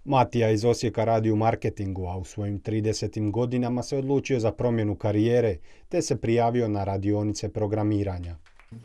Matija iz Osijeka radi u marketingu, a u svojim 30. godinama se odlučio za promjenu karijere, te se prijavio na radionice programiranja.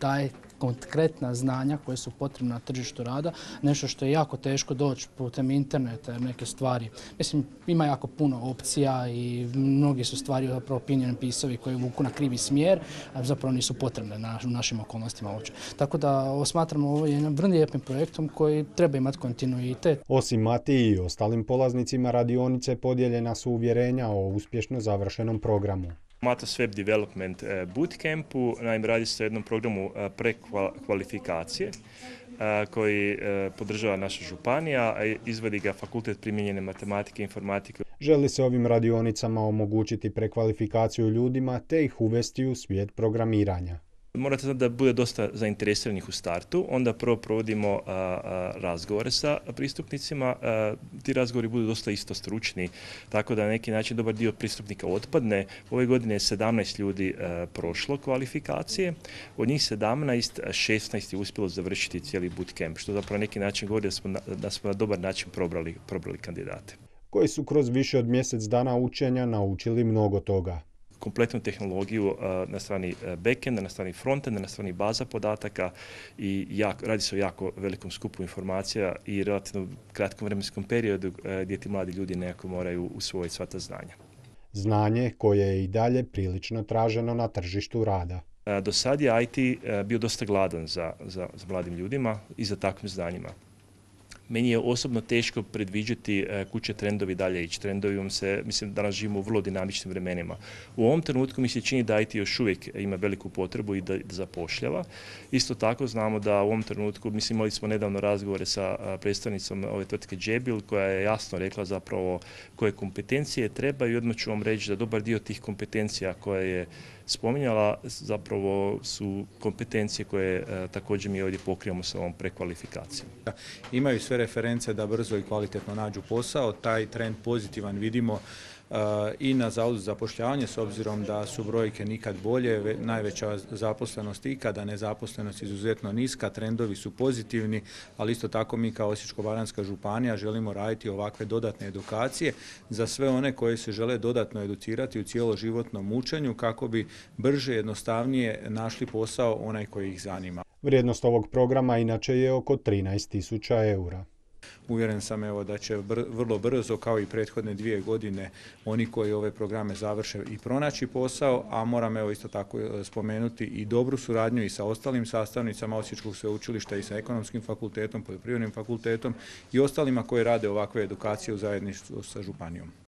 Daje konkretna znanja koje su potrebna na tržištu rada, nešto što je jako teško doći putem interneta, neke stvari. Mislim, ima jako puno opcija i mnogi su stvari zapravo opinion pisovi koji vuku na krivi smjer, a zapravo nisu potrebne u našim okolnostima uopće. Tako da smatramo ovo jednim vrlo lijepim projektom koji treba imati kontinuitet. Osim Matiji i ostalim polaznicima radionice podijeljena su uvjerenja o uspješno završenom programu. Matos Web Development Bootcampu, naime radi se o jednom programu prekvalifikacije koji podržava naša županija, a izvodi ga Fakultet primijenjene matematike i informatike. Želi se ovim radionicama omogućiti prekvalifikaciju ljudima te ih uvesti u svijet programiranja. Morate znati da bude dosta zainteresiranih u startu, onda prvo provodimo razgovore sa pristupnicima, ti razgovori budu dosta isto stručni, tako da na neki način dobar dio pristupnika otpadne. Ove godine je 17 ljudi prošlo kvalifikacije, od njih 17, 16 je uspjelo završiti cijeli bootcamp, što zapravo na neki način govori da smo na dobar način probrali kandidate. Koji su kroz više od mjesec dana učenja naučili mnogo toga. Kompletnu tehnologiju na strani backenda, na strani frontenda, na strani baza podataka i radi se o jako velikom skupu informacija i relativno kratkom vremenskom periodu gdje ti mladi ljudi nekako moraju usvojiti sva ta znanja. Znanje koje je i dalje prilično traženo na tržištu rada. Do sad je IT bio dosta gladan za mladim ljudima i za takvim znanjima. Meni je osobno teško predviđati kud će trendovi dalje ići. Trendovi mislim, danas živimo u vrlo dinamičnim vremenima. U ovom trenutku mi se čini da IT još uvijek ima veliku potrebu i da zapošljava. Isto tako znamo da u ovom trenutku, mislim, imali smo nedavno razgovore sa predstavnicom ove tvrtke Jabil koja je jasno rekla zapravo koje kompetencije treba i odmah ću vam reći da dobar dio tih kompetencija koje je spominjala zapravo su kompetencije koje također mi ovdje pokrivamo sa ovom prekvalifikacijom. Imaju sve reference da brzo i kvalitetno nađu posao, taj trend pozitivan vidimo i na Zavodu za zapošljavanje s obzirom da su brojke nikad bolje, najveća zaposlenost ikada, nezaposlenost izuzetno niska, trendovi su pozitivni, ali isto tako mi kao Osječko-baranjska županija želimo raditi ovakve dodatne edukacije za sve one koji se žele dodatno educirati u cjeloživotnom učenju kako bi brže, jednostavnije našli posao onaj koji ih zanima. Vrijednost ovog programa inače je oko 13.000 eura. Uvjeren sam da će vrlo brzo, kao i prethodne 2 godine, oni koji ove programe završe i pronaći posao, a moram isto tako spomenuti i dobru suradnju i sa ostalim sastavnicama Osječkog sveučilišta i sa Ekonomskim fakultetom, Poljoprivrednim fakultetom i ostalima koji rade ovakve edukacije u zajedništvu sa županijom.